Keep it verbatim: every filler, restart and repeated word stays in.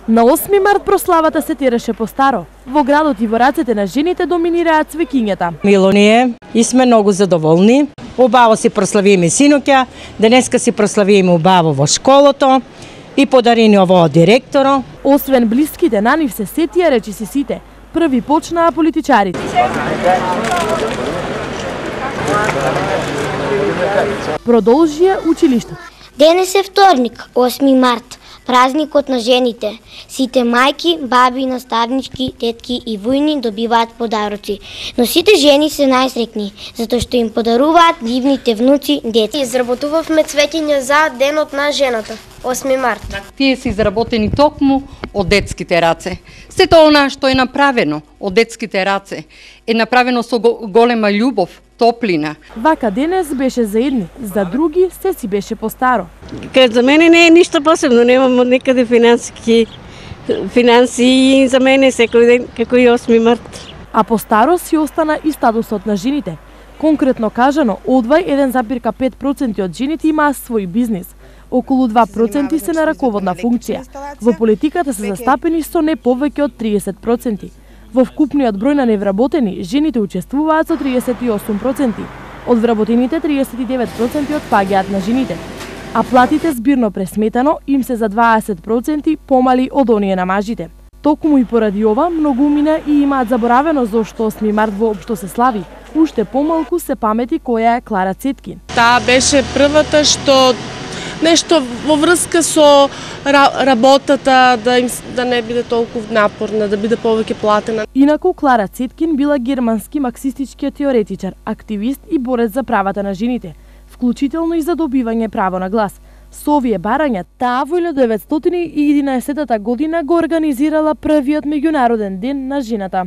На осми март прославата се тереше постаро. Во градот и во рацете на жените доминираат цвеќињата. Мило ни е и сме многу задоволни. Убаво си прославиме синоќа, денеска си прославиме убаво во школото и подарени ово од директоро. Освен блиските на нив се сетија речиси сите. Први почнаа политичарите. Продолжија училиштето. Денес е вторник, осми март, празникот на жените. Сите мајки, баби, наставнички, тетки и војни добиваат подароци. Но сите жени се најсрекни, затоа што им подаруваат дивните внуци деца. Изработувавме цвеќиња за денот на жената, осми март. Тие се изработени токму од детските раце. Сето она што е направено од детските раце е направено со голема љубов, топлина. Вака денес беше за едни, за други се си беше постаро. Кај за мене не е ништо посебно, немам од некаде финансиски финанси и за мене секој ден како и осми март. А постаро си остана и статусот на жените. Конкретно кажано, одвај еден запирка пет проценти од жените имаа свој бизнис. Околу два проценти се на раководна функција. Во политиката се застапени со не повеќе од триесет проценти. Во вкупниот број на невработени, жените учествуваат со триесет и осум проценти. Од вработените триесет и девет проценти отпаѓаат на жените. А платите збирно пресметано им се за дваесет проценти помали од оние на мажите. Токму и поради ова, многумина и имаат заборавено зошто осми март воопшто се слави. Уште помалку се памети која е Клара Цеткин. Таа беше првата што нешто во врска со работата, да им да не биде толку напорна, да биде повеќе платена. Инаку Клара Цеткин била германски марксистички теоретичар, активист и борец за правата на жените, вклучително и за добивање право на глас. Со овие барања, таа во илјада деветстотини и единаесеттата година го организирала првиот меѓународен ден на жената.